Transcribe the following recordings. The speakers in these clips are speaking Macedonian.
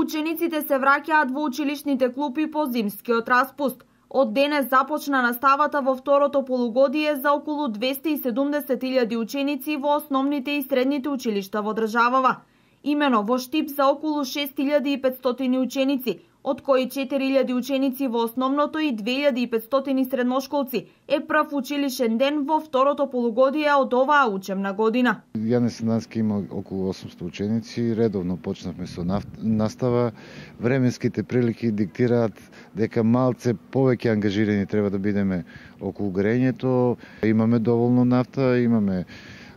учениците се враќаат во училишните клупи по зимскиот распуст. Од денес започна наставата во второто полугодие за околу 270.000 ученици во основните и средните училишта во државава. Имено во Штип за околу 6.500 ученици, од кои 4.000 ученици во основното и 2.500 средношколци е прв училишен ден во второто полугодие од оваа учебна година. Јанес Сандански има околу 800 ученици, редовно почнавме со настава. Временските прилики диктираат дека малце повеќе ангажирани треба да бидеме околу грењето. Имаме доволно нафта, имаме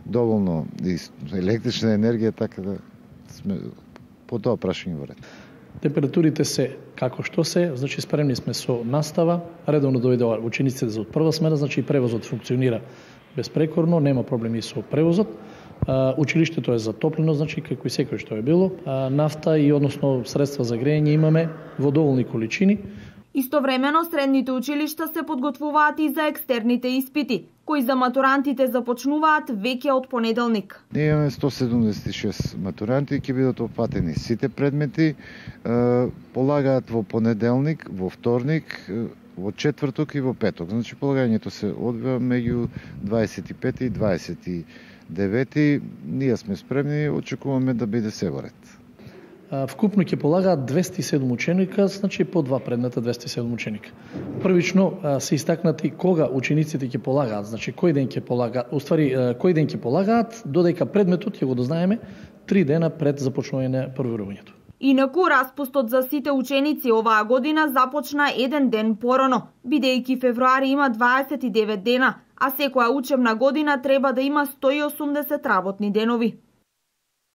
доволно електрична енергија, така да сме по тоа прашање во ред. Температурите се како што се, значи спремни сме со настава, редовно дојдоа учениците за од прва смена, значи превозот функционира безпрекорно, нема проблеми со превозот. Училиштето е затоплено, значи како и секој што е било. Нафта и односно средства за грејење имаме во доволни количини. Истовремено средните училишта се подготвуваат и за екстерните испити, кои за матурантите започнуваат веќе од понеделник. Ние имаме 176 матуранти, ќе бидат опфатени сите предмети, полагаат во понеделник, во вторник, во четврток и во петок. Значи полагањето се одвива меѓу 25 и 29. Ние сме спремни, очекуваме да биде се во ред. Вкупно ќе полагаат 207 ученика, значи по два предмета 207 ученика. Првично се истакнати кога учениците ќе полагаат, значи кој ден ќе полагаат, кој ден ќе полагаат, додека предметот ќе го дознаеме 3 дена пред започнување на првирувањето. Инаку распустот за сите ученици оваа година започна еден ден порано, бидејќи февруари има 29 дена, а секоја учебна година треба да има 180 работни денови.